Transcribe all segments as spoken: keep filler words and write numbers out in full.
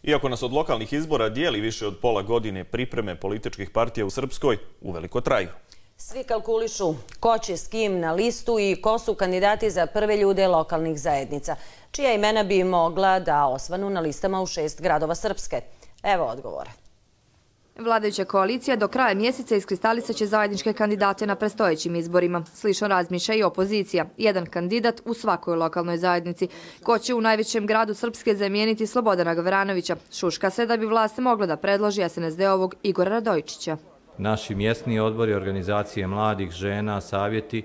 Iako nas od lokalnih izbora dijeli više od pola godine, pripreme političkih partija u Srpskoj uveliko traju. Svi kalkulišu ko će s kim na listu i ko su kandidati za prve ljude lokalnih zajednica, čija imena bi mogla da osvanu na listama u šest gradova Srpske. Evo odgovora. Vladajuća koalicija do kraja mjeseca iskristalisat će zajedničke kandidate na predstojećim izborima. Slično razmišlja i opozicija. Jedan kandidat u svakoj lokalnoj zajednici. Ko će u najvećem gradu Srpske zamijeniti Slobodana Gavranovića? Šuška se da bi vlast mogla da predloži es en es de-ovog Igora Radojičića. Naši mjesni odbori, organizacije mladih, žena, savjeti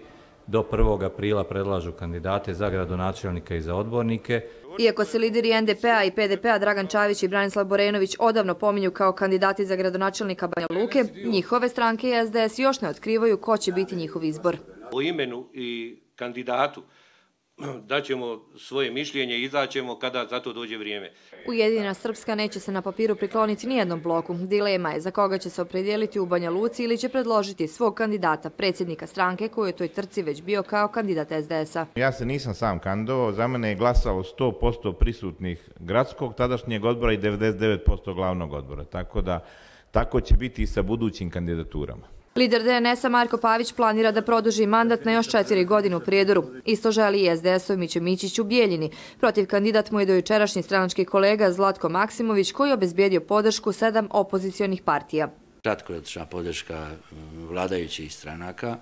do prvog aprila predlažu kandidate za gradonačelnika i za odbornike. Iako se lideri en de pe a i pe de pe a Dragan Čavić i Branislav Borenović odavno pominju kao kandidati za gradonačelnika Banja Luke, njihove stranke i es de es još ne otkrivaju ko će biti njihov izbor. O imenu i kandidatu daćemo svoje mišljenje i izaćemo kada za to dođe vrijeme. Ujedinjena Srpska neće se na papiru prikloniti nijednom bloku. Dilema je za koga će se opredijeliti u Banja Luci ili će predložiti svog kandidata, predsjednika stranke koji je u toj trci već bio kao kandidat es de es a. Ja se nisam sam kandidovao, za mene je glasalo sto posto prisutnih gradskog tadašnjeg odbora i devedeset devet posto glavnog odbora, tako da tako će biti i sa budućim kandidaturama. Lider de en es a Marko Pavić planira da produži mandat na još četiri godine u Prijedoru. Isto želi i es de es-ov Miće Mićić u Bijeljini. Protiv kandidat mu je dojučerašnji stranački kolega Zlatko Maksimović koji je obezbijedio podršku sedam opozicionih partija. Kratko je otišla podrška vladajućih stranaka,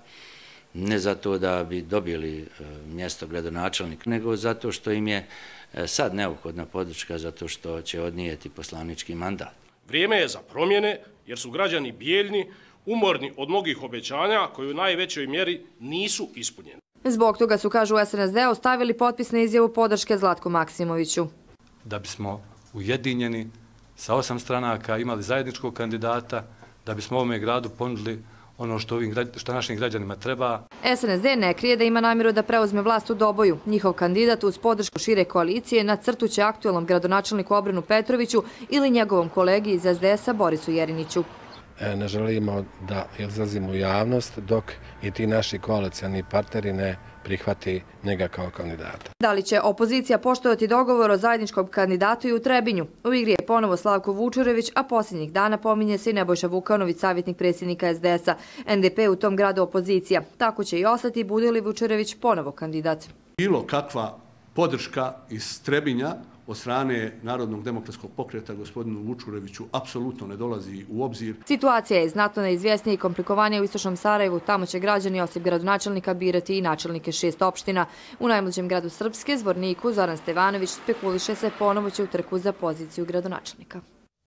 ne zato da bi dobili mjesto gradonačelnika, nego zato što im je sad neophodna podrška zato što će odnijeti poslanički mandat. Vrijeme je za promjene jer su građani Bijeljni umorni od mnogih obećanja koji u najvećoj mjeri nisu ispunjeni. Zbog toga su, kažu u es en es de-u, stavili potpis na izjavu podrške Zlatku Maksimoviću. Da bismo ujedinjeni sa osam stranaka imali zajedničkog kandidata, da bismo ovome gradu ponudili ono što, ovim, što našim građanima treba. es en es de ne krije da ima namjeru da preuzme vlast u Doboju. Njihov kandidat uz podršku šire koalicije nacrtuće aktualnom gradonačelniku Obrenu Petroviću ili njegovom kolegi iz es de es a Borisu Jeriniću. Ne želimo da izlazimo u javnost dok i ti naši koalicioni partneri ne prihvati njega kao kandidata. Da li će opozicija poštovati dogovor o zajedničkom kandidatu i u Trebinju? U igri je ponovo Slavko Vučurević, a posljednjih dana pominje se i Nebojša Vukanović, savjetnik predsjednika es de es a. en de pe u tom gradu opozicija. Tako će i ostati bude li Vučurević ponovo kandidat. Bilo kakva podrška iz Trebinja od strane Narodnog demokratskog pokreta gospodinu Vučureviću apsolutno ne dolazi u obzir. Situacija je znatno neizvjesnija i komplikovanija u istočnom Sarajevu. Tamo će građani osim gradonačelnika birati i načelnike šest opština. U najmlađem gradu Srpske, Zvorniku, Zoran Stevanović spekuliše se ponovo će u trku za poziciju gradonačelnika.